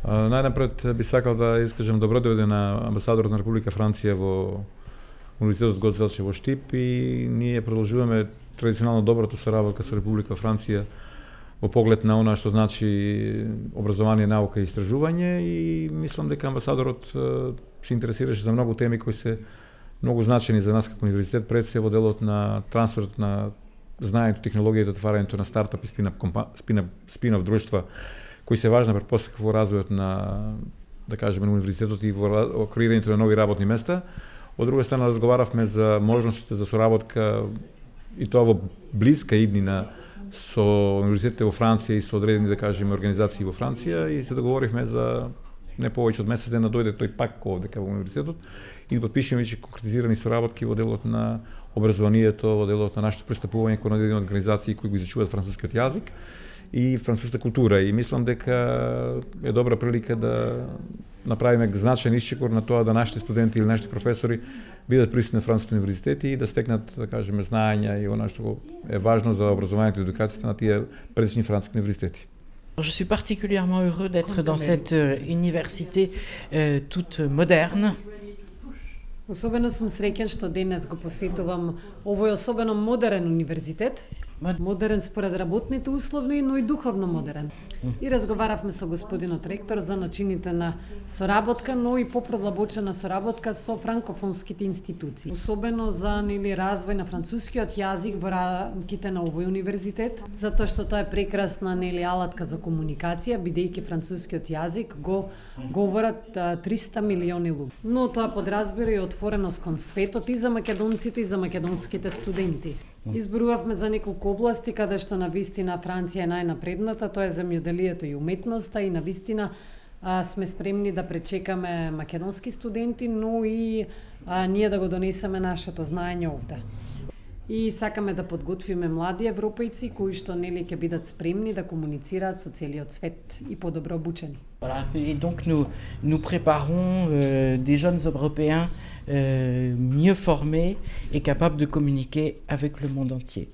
Најнапред би сакал да искажам добродојде на амбасадорот на Република Франција во Универзитетот Гоце Делчев во Штип и ние продолжуваме традиционално доброто соработка со Република Франција во поглед на она што значи образование, наука и истражување и мислам дека амбасадорот се интересираше за многу теми кои се многу значени за нас како универзитет, пред се во делот на трансферот на знаењето, технологијата, отварањето на стартап и спин-оф друштва кои се важна претпоставка во развојот на, да кажеме, на универзитетот и во креирањето на нови работни места. Од друга страна разговаравме за можностите за соработка и тоа во блиска иднина со универзитетите во Франција и со одредени, да кажеме, организации во Франција и се договоривме за не повеќе од месец ден да дојде тој пак овде кај универзитетот и да подпишеме веќе конкретизирани соработки во делот на образованието, во делот на нашето пристапување кон одредени организации кои го изучуваат францускиот јазик и француската култура и мислам дека е добра прилика да направиме значаен исчекор на тоа да нашите студенти или нашите професори бидат присутни на француските универзитети и да стекнат, да кажеме, знаења и она што е важно за образованието и едукацијата на тие предишни француски универзитети. Je suis particulièrement heureux d'être dans cette université toute moderne. Особено сум среќен што денес го посетувам овој особено модерен универзитет. Модерен според работните услови, но и духовно модерен. И разговаравме со господинот ректор за начините на соработка, но и попродлабочена соработка со франкофонските институции. Особено за развој на францускиот јазик во рамките на овој универзитет, затоа што тоа е прекрасна алатка за комуникација, бидејќи францускиот јазик го говорат 300 милиони луѓе. Но тоа подразбира и отвореност кон светот и за македонците и за македонските студенти. Изборувавме за неколку области каде што на вистина Франција е најнапредната, тоа е земјоделието и уметноста и на вистина сме спремни да пречекаме македонски студенти, но и ние да го донесеме нашето знаење овде. И сакаме да подготвиме млади европејци кои што ќе бидат спремни да комуницираат со целиот свет и подобро обучени. Voilà, et donc nous préparons des jeunes Européens mieux formés et capables de communiquer avec le monde entier.